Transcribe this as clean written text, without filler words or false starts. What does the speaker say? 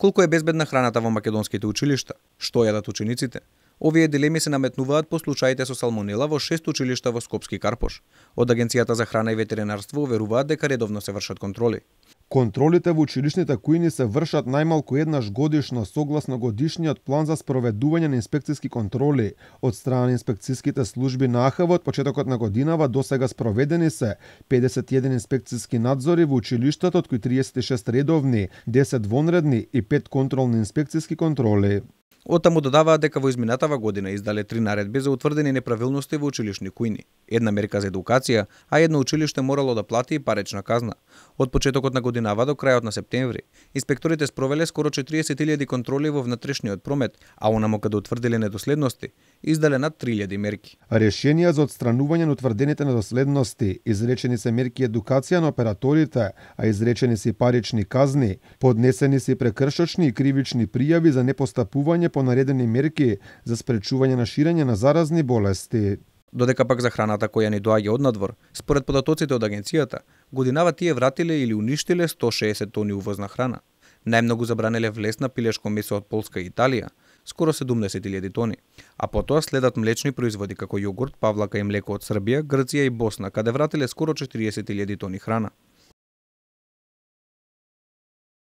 Колку е безбедна храната во македонските училишта? Што јадат учениците? Овие дилеми се наметнуваат по случаите со салмонела во 6 училишта во Скопски Карпош. Од Агенцијата за храна и ветеринарство уверуваат дека редовно се вршат контроли. Контролите во училишните кујни се вршат најмалку еднаш годишно согласно годишниот план за спроведување на инспекциски контроли од страна на инспекциските служби на АХВ. Од почетокот на годинава до сега спроведени се 51 инспекциски надзори во училиштата, од кои 36 редовни, 10 вонредни и 5 контролни инспекциски контроли. Оттаму додаваат дека во изминатава година издале 3 наредби за утврдени неправилности во училишни кујни. Една мерка за едукација, а едно училиште морало да плати и парична казна. Од почетокот на годинава до крајот на септември, инспекторите спровеле скоро 40.000 контроли во внатрешниот промет, а онаму каде утврдиле недоследности, издале над 3.000 мерки. Решенија за отстранување на утврдените недоследности, изречени се мерки едукација на операторите, а изречени се парични казни, поднесени се прекршочни и кривични пријави за непостапување по наредени мерки за спречување на ширење на заразни болести. Додека пак за храната која ни доаѓа од надвор, според податоците од агенцијата, годинава тие вратиле или уништиле 160 тони увозна храна. Најмногу забранеле влезна пилешко месо од Полска и Италија, скоро 70.000 тони, а потоа следат млечни производи како јогурт, павлака и млеко од Србија, Грција и Босна, каде вратиле скоро 40.000 тони храна.